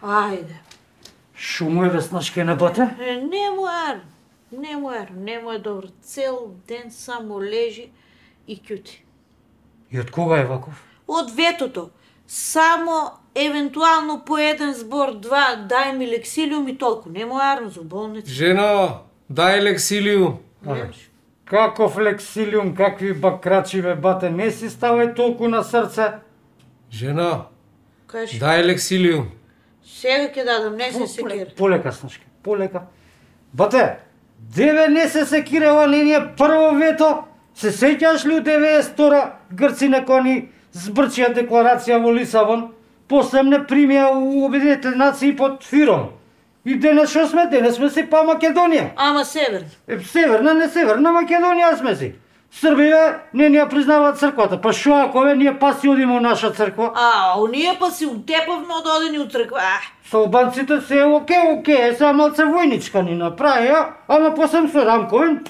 Ајде. Шумо е веснашке на бате? Не му е добро. Цел ден само лежи и кјути. И од кога е ваков? Од ветото. Само евентуално по еден збор, два, дај ми лексилиум и толку. Не му арно за болница. Жено, дај лексилиум. Каков лексилиум, какви бакрачи бе бате, не си ставај толку на срце. Жено, Кажи. дај лексилиум. Сега ќе дадам, не се секира. Полека, Снашке, полека. Бате, деве не се секирава нение прво вето. Се сеќаш ли у 92-ра Грци некои збрчија декларација во Лисабон, после не примија у Обединетите нации под Фиром. И денес шо сме? Денес сме си па Македонија. Ама северна. Северна, не северна Македонија сме си. Србиве не ни ја признаваат црквата. Па шо ако ние па си одиме у наша црква? Оние па си утепавме од одени у црква. Со албанците се оке, сега малце војничка ни направија, ама после со Рамковин,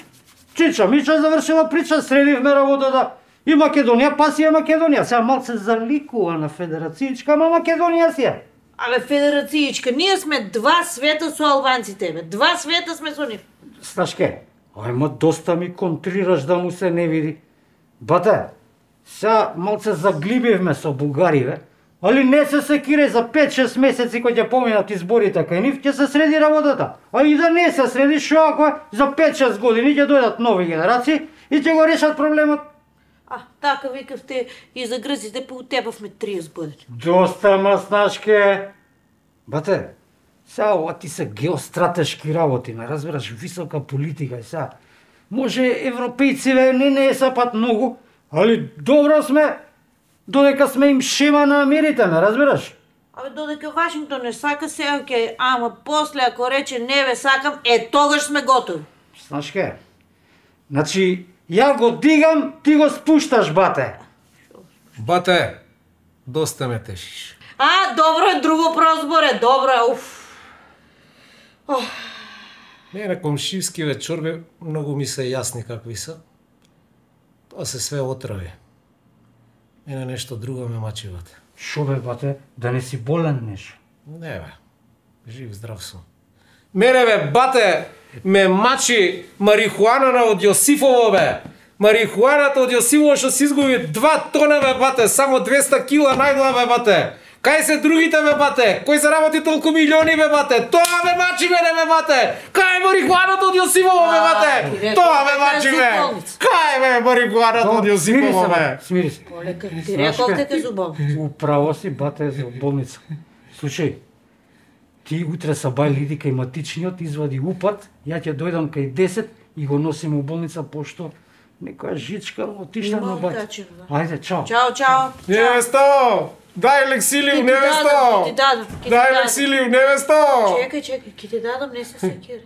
Чича Мича завршила прича, средивме работата. И Македонија, па си е Македонија. Сега малце заликува на федерацијичка, ама Македонија си е. Але федерацијичка, ние сме два света со албанците, бе. Два света сме со нив. Снашке, ајма доста ми контрираш да му се не види. Бате, сега малце заглибивме со бугариве, али не се секире за 5-6 месеци кој ќе поминат изборите кај нив, ќе се среди работата. А и да не се среди, шо ако за 5-6 години ќе дојдат нови генерации и ќе го решат проблемот. Така викавте и за грците поутепавме 30 години. Доста Снашке. Бате, сега ова ти се геостратешки работи, не разбираш, висока политика и сега. Може европејциве не е сапат многу, али добро сме, додека сме им шема на Америте, не разбираш? Додека Вашингтон не сака, сега ќе, ама после ако рече не ве сакам, тогаш сме готови. Снашке, значи, ја го дигам, ти го спушташ, бате. Бате, доста ме тешиш. Добро е, друго прозборе, добро е, На комшивскиве чорби многу ми се јасни какви се. Тоа се све отрави. Мене нешто друго ме мачи, бате. Шо бе, бате, да не си болен нешто? Не бе, жив здрав сум. Мене бе, бате, ме мачи марихуанана од Јосифово, бе. Марихуаната од Јосифово што се изгуби 2 тона, бе, бате, само 200 кила најдла, бе, бате. Кај се другите, бе, бате? Кој заработи толку милиони, бе, бате? Тоа ме мачи мене, бе, бате! Кај е марихуаната од Јосифово, бе, бате? Тоа ме мачи, бе! Кај е марихуаната од Јосифово, бе? Смири се. Полека, ти рекол дека за болница. Управо си, бате, за болница. Слушај, ти утре са бајли кај матичниот, извади упат, ја ќе дојдам кај 10 и го носим у болница, пошто некоја жичка отишла на бајта. Ајде, чао. Чао. Невесто! Дај лексилиум, невесто! Ти дадам. Дај лексилиум, невесто! Чекај, ќе ти дадам, не се секири.